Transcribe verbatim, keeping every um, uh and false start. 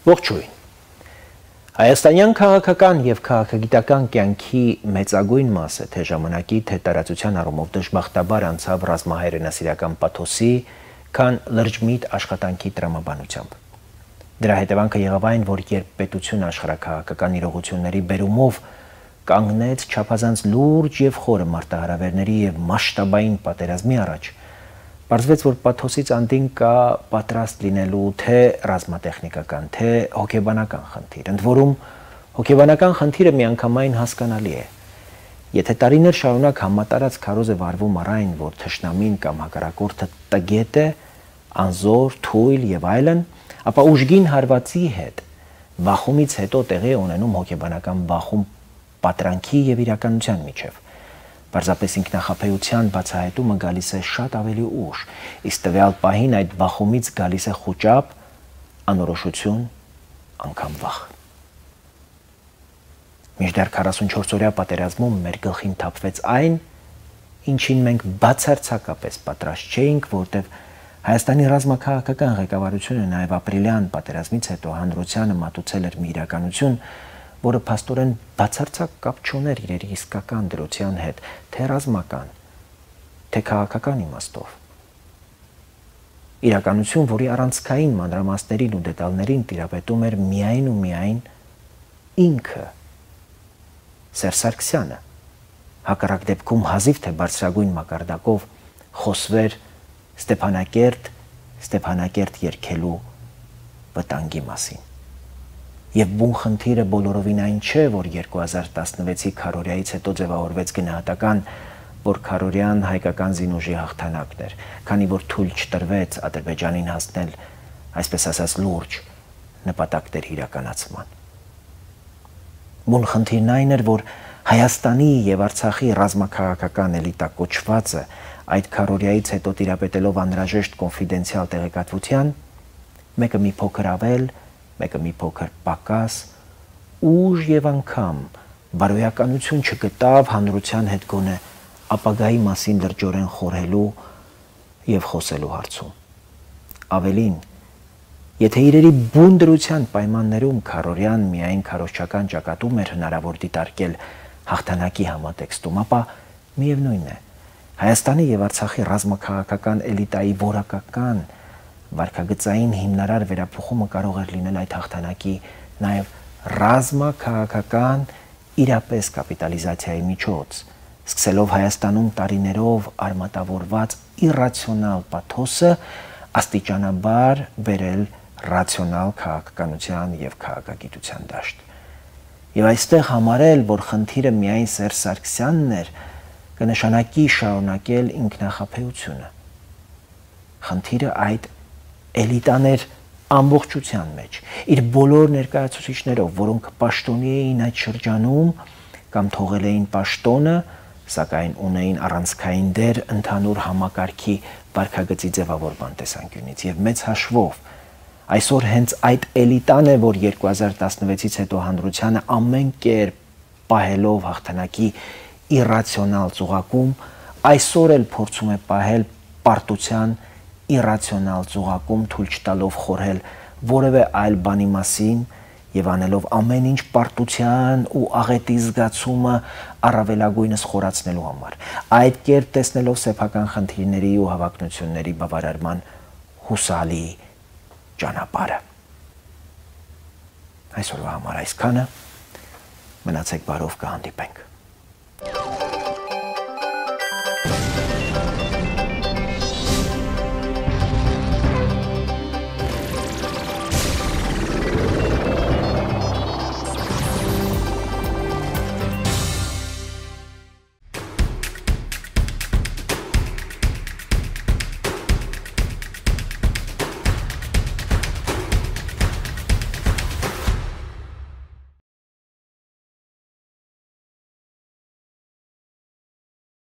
Ողջույն։ Հայաստանյան քաղաքական եւ քաղաքագիտական կյանքի մեծագույն մասը թե ժամանակի, թե տարածության առումով դժբախտաբար անցավ ռազմահայրենասիրական պաթոսի, քան լրջմիտ աշխատանքի տրամաբանությամբ։ Դրա հետևանքը եղավ այն, որ երբ պետությունը աշխարհաքաղաքական իրողությունների բերումով կանգնեց չափազանց լուրջ եւ խորը մարտահրավերների եւ մասշտաբային պատերազմի առաջ, պարզվեց, որ պաթոսից անդին կա պատրաստ լինելու թե ռազմատեխնիկական, թե հոգեբանական խնդիր, ընդ որում հոգեբանական խնդիրը միանգամայն հասկանալի է։ Եթե տարիներ շարունակ համատարած քարոզ է վարվում առ այն, որ թշնամին կամ հակառակորդը տգետ է, անզոր, թույլ եւ այլն, ապա ուժգին հարվածի հետ բախումից հետո տեղի է ունենում հոգեբանական բախում պատրանքի եւ իրականության միջև։ Պարզապես ինքնախապեյության բացահայտումը գալիս է շատ ավելի ուշ, իսկ տվյալ պահին այդ բախումից գալիս է խուճապ, անորոշություն, անգամ վախ։ Մինչդեռ քառասունչորս-օրյա պատերազմում մեր գլխին թափվեց այն, ինչին մենք բացարձակապես պատրաստ չէինք, որտեղ Հայաստանի ռազմաքաղաքական ղեկավարությունը նաև ապրիլյան պատերազմից հետո հանրությանը մատուցել էր մի իրականություն, որը փաստորեն բացարձակ կապ չուներ իրերի իսկական դրության հետ, թե ռազմական, թե քաղաքական իմաստով։ Իրականություն, որի առանցքային մանրամասներին ու դետալներին տիրապետում էր միայն ու միայն ինքը, Սերժ Սարգսյանը, հակառակ դեպքում հազիվ թե բարձրագույն մակարդակով խոսվեր Ստեփանակերտ, Ստեփանակերտ երգելու վտանգի մասին։ Եվ բուն խնդիրը բոլորովին այն չէ, որ երկու հազար տասնվեցի քարորիայից հետո ձևավորվեց գնահատական, որ քարորյան հայկական զինուժի հաղթանակն էր, քանի որ թույլ չտրվեց Ադրբեջանին հասնել, այսպես ասած, լուրջ նպատակների իրականացման։ Բուն խնդիրն այն էր, որ Հայաստանի եւ Արցախի ռազմաքաղաքական էլիտա կոչվածը այդ քարորիայից հետո տիրապետելով անհրաժեշտ կոնֆիդենցիալ տեղեկատվության, մեկը մի փոքր ավել, մեկը մի փոքր պակաս, ուժ եւ անգամ բարոյականություն չգտավ հանրության հետ գոնե ապագայի մասին լրջորեն խորհելու եւ խոսելու հարցում։ Ավելին, եթե իրերի բուն դրության պայմաններում քարորյան միայն քարոզչական ճակատում էր հնարավոր դիտարկել հաղթանակի համատեքստում, ապա միևնույն է, Հայաստանի եւ Արցախի ռազմաքաղաքական էլիտայի որակական վարքագծային հիմնարար վերափոխումը կարող էր լինել այդ հաղթանակի նաեւ ռազմաքաղաքական իրապես կապիտալիզացիայի միջոց, սկսելով Հայաստանում տարիներով արմատավորված իրացիոնալ պաթոսը աստիճանաբար բերել ռացիոնալ քաղաքականության եւ քաղաքագիտության դաշտ։ Եվ այստեղ համարել, որ խնդիրը միայն Սերժ Սարգսյանն էր, կնշանակի շարունակել ինքնախապեյությունը։ Խնդիրը այդ էլիտան էր ամբողջության մեջ, իր բոլոր ներկայացուցիչներով, որոնք պաշտոնի էին այդ շրջանում կամ թողել էին պաշտոնը, սակայն ունեին առանցքային դեր ընդհանուր համակարգի վարքագծի ձևավորման տեսանկյունից եւ մեծ հաշվով այսօր հենց այդ էլիտան է, որ երկու հազար տասնվեցից հետո հանրությանը ամեն կերպ պահելով հաղթանակի իրացիոնալ ծուղակում, այսօր էլ փորձում է պահել պարտության իրացիոնալ ծուղակում, թույլ չտալով խորհել որևէ այլ բանի մասին եւ անելով ամեն ինչ պարտության ու աղետի զգացումը առավելագույնս խորացնելու համար։ Այդ կերպ տեսնելով սեփական խնդիրների ու հավակնությունների բավարարման հուսալի ճանապարհը։ Այսօրվա համար այսքանը, մնացեք բարով, կհանդիպենք։